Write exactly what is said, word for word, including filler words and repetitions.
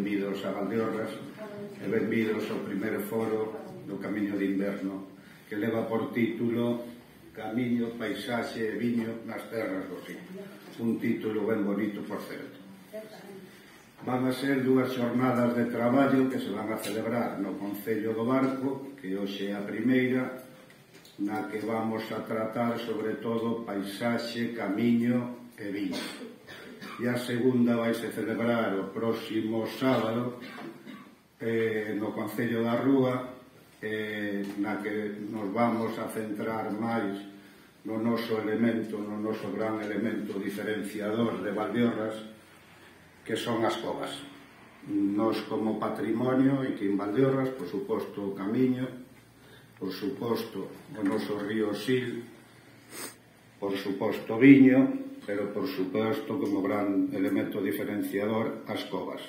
benvidos a Valdeorras e benvidos ao primeiro foro do Camiño de Inverno, que leva por título Camiño, Paisaxe e Viño nas Terras do Rin. Un título ben bonito, por certo. Van a ser dúas xornadas de traballo que se van a celebrar no Concello do Barco, que hoxe é a primeira, na que vamos a tratar sobre todo paisaxe, camiño e viño. E a segunda vai se celebrar o próximo sábado eh, no Concello da Rúa, eh, na que nos vamos a centrar máis no noso elemento, no noso gran elemento diferenciador de Valdeorras, que son as covas. Nos como patrimonio, e que en Valdeorras, por suposto, o camiño, por suposto, o noso río Sil, por suposto, viño, pero por suposto, como gran elemento diferenciador, as covas.